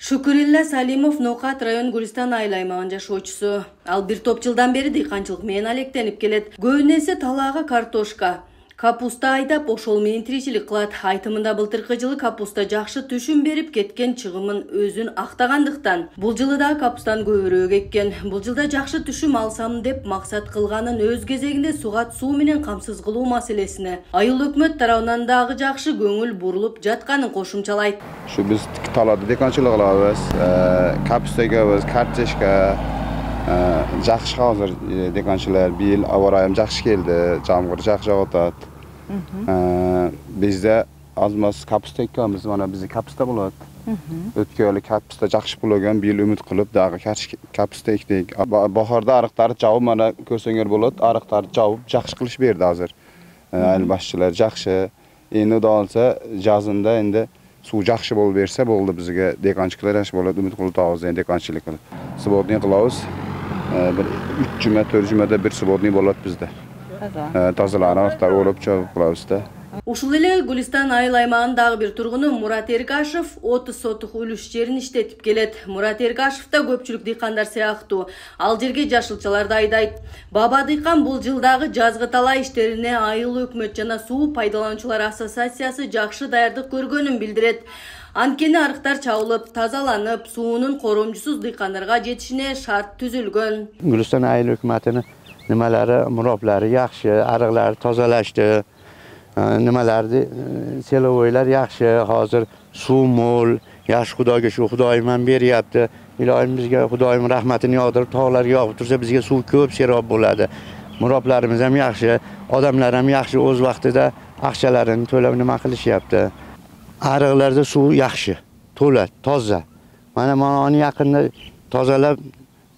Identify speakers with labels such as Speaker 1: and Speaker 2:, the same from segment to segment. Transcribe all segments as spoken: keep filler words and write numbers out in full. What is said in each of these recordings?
Speaker 1: Шукурилла Салимов Ноокат район Гулистан айыл аймагынын жашоочусу. Ал бир топ жылдан бери дыйканчылык менен алектенип келет. Көбүнесе талаага картошка, капуста айдап ошол менен тиричилик кылат. Айтымында былтыркы жылы капуста жакшы түшүм берип кеткен, чыгымын өзүн актагандыктан бул жылы да капустан көбүрөөк эккен. Бул жылда жакшы түшүм алсам деп максат кылганын өз кезегинде сугат суу менен камсыз кылуу маселесине айыл өкмөт тарабынан дагы жакшы көңүл бурулуп жатканын кошумчалайт.
Speaker 2: Şu biz talada dekancılık kılabız, kapusta ekebиz, kartoshka, жакшы hazır dekancılar. Bir yıl avarayım jакшы geldi, jamgır jакшы jağıp atat. Bizde azmaz kapusta ekebиz, mana bizi kapusta bolat. Ötkeli kapusta jакшы bulagan, bir yıl ümit kılıp dagı kapusta ekdik. Baharda arıqtary jağıp mana körsöňer bolat, arıqtary jağıp jакшы kılıç berdi hazır. Ayıl başçılar jакшы. Endi da olsa жазында endi suv жакшы болуп берсе болду, бизге деканчылар жакшы болот, үмүт кылып табыз эми деканчылык кылып. Свободный кылабыз. Бир үч жума, төрт жумада бир свободный болот бизде. Таза. Тазаланып, олуп чыгып кылабыз да.
Speaker 1: Ушул эле Гулистан айыл аймагынын дагы бир тургуну Мурат Эргашев отуз сотук үлүш жерин иштетип келет. Мурат Эргашев да көпчүлүк дыйкандар сыяктуу ал жерге жашылчаларды айдайт. Баба дыйкан бул жылдагы жазгы талаа иштерине айыл өкмөт жана суу пайдалануучулар ассоциациясы жакшы даярдык көргөнүн билдирет. Анткени арыктар чабылып, тазаланып, суунун коромжусуз дыйкандарга жетишине шарт түзүлгөн.
Speaker 3: Гулистан айыл өкмөтүнүн немелери, муроплары жакшы, арыктар тазалашты. Nimalardi selovoylar yaxshi, hozir suv mo'l, yaxshi Xudoga shu Xudoyim ham beryapti. Ilohim bizga Xudoyim rahmatini yog'dirib, tog'larga yog'ib tursa bizga suv ko'p serob bo'ladi. Muroblarimiz ham yaxshi, odamlar ham yaxshi, o'z vaqtida aqchalarini to'lab nima qilishyapti. Ariqlarda suv yaxshi, to'la, toza. Mana mana yaqinda tozalab,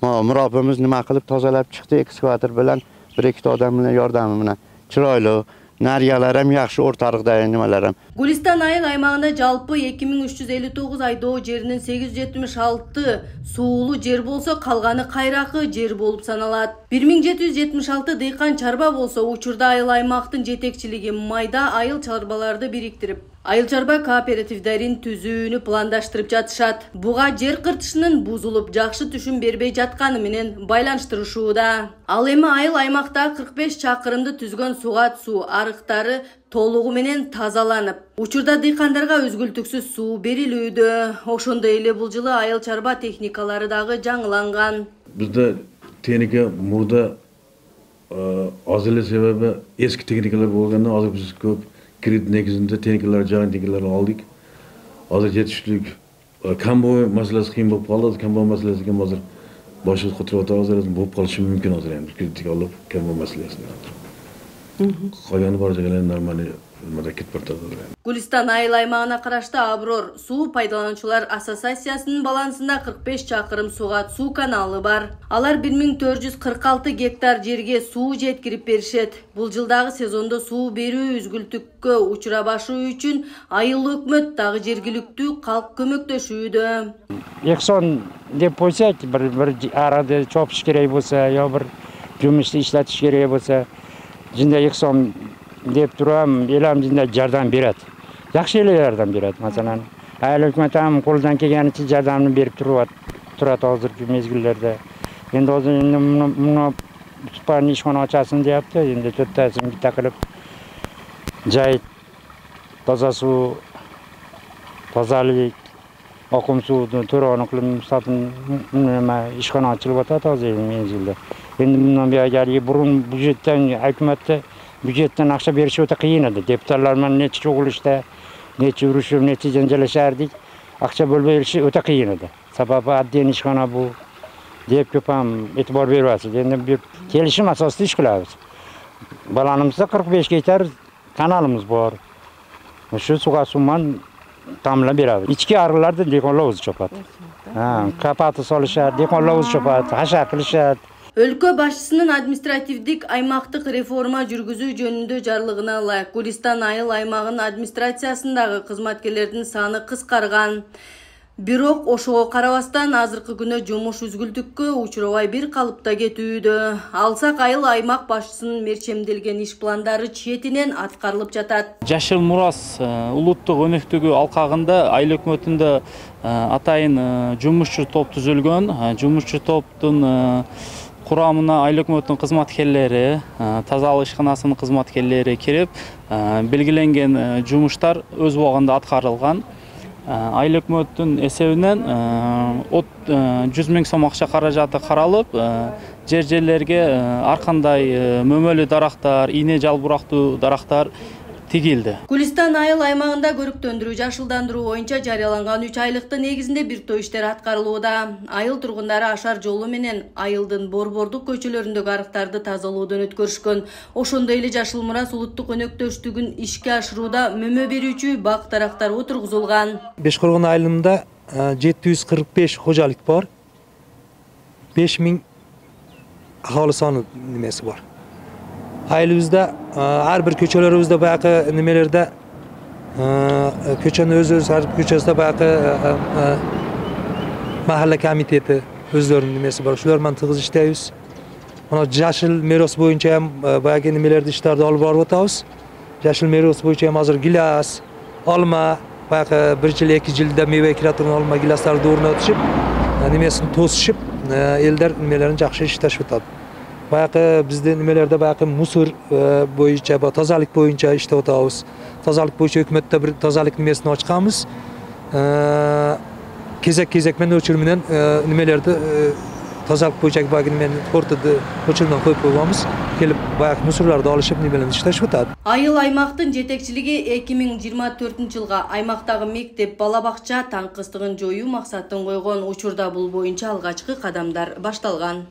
Speaker 3: murobimiz nima qilib tozalab chiqdi ekskavator bilan, bir ikkita odam bilan yordami bilan. Chiroyli Nariyalar ham yaxshi, o'rtariqda nimalar ham.
Speaker 1: Gulistan айыл аймагында жалпы эки миң үч жүз элүү тогуз айдоо жеринин сегиз жүз жетимиш алты суулуу жер болсо, калганы кайракы жер болуп саналат. бир миң жети жүз жетимиш алты дыйкан чарба болсо, учурда айыл аймактын жетекчилиги майда айыл чарбаларды бириктирип, айыл чарба кооперативдерин түзүүнү пландаштырып жатышат. Буга жер кыртышынын бузулуп, жакшы түшүм бербей жатканы менен байланыштырышууда. Ал эми айыл аймакта кырк беш чакырымды түзгөн сугат суу арыктары толугу менен тазаланып, учурда дыйкандарга өзгүлтүксүз суу берилүүдө. Ошондой эле бул жылы айыл чарба техникалары дагы жаңыланган.
Speaker 4: Бизде техника мурда аз эле себеби эски техникалар болгондон азыр биз көп кредит негизинде техникалар, жаңы техникаларды алдык. Азыр жетиштүүлүк комбой маселеси кыйын болуп калды. Комбой маселеси ким азыр башыбыз котуруп атабыз, болуп калышы мүмкүн азыр эми кредит алып комбой маселесин. Кайганы бар жагынан нормальный кетип бартат.
Speaker 1: Гулистан айыл аймагына карашты Аброр суу пайдалануучулар ассоциациясынын балансында кырк беш чакырым сугат суу каналы бар. Алар бир миң төрт жүз кырк алты гектар жерге суу жеткирип беришет. Бул жылдагы сезондо суу берүү үзгүлтүккө учурабашы үчүн айыл өкмөт дагы жергиликтүү калк көмөктөшүүдө.
Speaker 5: Эксон деп койсок, бир бир арада чопуш керек болсо, я бир жумушты иштетиш керек болсо, жинде эксон деп турам, элем жинде жардам берет. Жакшы эле жардам берет. Маселен, айыл өкмөт ham колунан келгенинче жардамын берип турат, турат азыркы мезгилдерде. Эndi азыр муну спальный ишкана ачасың депти, эndi төрттөсүн битта кылып жайыт, таза суу, тазалык, акым сууну төрөнү кылып сатын нема ишкана ачылып атат азыр мезгилде. Endi bundan beri burun büjetten, hükümette büjetten akça berişi öte kıyın edi. Deputatlarla neçe çoğuluşta, neçe uruşup, neçe cencelleşerdik. Akça bölberişi öte kıyın edi. Sababı adliyen işgana bu deyip köpem etibar vermesi. Endi bir gelişim asaslı iş kılabız. Balanımızda kırk beş gektar kanalımız var. Şu suğa suman tamla berabız. İçki arılarda dekonlavuz çopat. Kapatı soluşar, dekonlavuz çopat, haşa kılışar.
Speaker 1: Өлкө башчысынын административдик аймактык реформа жүргүзүү жөнүндө жарлыгына ылайык Гулистан айыл аймагынын администрациясындагы кызматкерлердин саны кыскарган. Бирок ошого карабастан азыркы күнү жумуш үзгүлтүккө учурабай бир калыпта кетүүдө. Алсак айыл аймак башчысынын мерчемделген иш пландары четинен аткарылып жатат.
Speaker 6: Жашыл Мурас улуттук өнөктүгү алкагында айыл өкмөтүндө атайын жумушчу топ түзүлгөн. Жумушчу топтун курамына айыл өкмөтүнүн кызматкерлери, тазалык ишканасынын кызматкерлери кирип, белгиленген жумуштар өз убагында аткарылган. Айыл өкмөттүн эсебинен жүз миң сом акча каражаты каралып, жер жерлерге ар кандай мөмөлүү дарактар, ийне жалбырактуу дарактар тигилди.
Speaker 1: Гүлистан айыл аймагында көрүктөндүрүү жашылдандыруу боюнча жарыяланган үч айлыктын негизинде бир топ иштер аткарылууда. Айыл тургундары ашар жолу менен айылдын борбордук көчөлөрүндөгү арыктарды тазалоодон өткөрүшкөн. Ошондой эле Жашыл Мурас улуттук өнөктөштүгүн ишке ашырууда мөмө берүүчү бак дарактар отургузулган.
Speaker 7: Бешкоргон айылында жети жүз кырк беш кожалык бар. беш миң ахалы саны немеси бар. Айылыбызда ар бир көчөлөрүбүздө баягы немелерде көчөнү өз-өз ар көчөсүндө баягы махалла комитети өздөрүнүн немеси бар. Ошолор менен тыгыз иштейбиз. Мына жашыл мерос боюнча ham баягы немелерди иштерди алып барып атабыз. Жашыл мерос боюнча ham азыр гилас, алма, баягы бир жыл эки жылда мейве кире турган алма гиластарды орнотушуп, немесин тосушуп, элдер немелерин жакшы иштешип атат. Баягы биздин немелерде баягы мусор боюнча, тазалык боюнча иштеп атабыз. Тазалык боюнча өкмөттө бир тазалык немесин ачканбыз. Кезек-кезек менен өчүр менен немелерди тазалык боюнча баягы менен ортодо өчүрмөн коюп койгонбуз. Келип баягы мусорлорду алышып неменен иштешип атат.
Speaker 1: Айыл аймактын жетекчилиги эки миң жыйырма төртүнчү жылга аймактагы мектеп, бала бакча таңкыстыгын жоюу максатын койгон. Учурда бул боюнча алгачкы кадамдар башталган.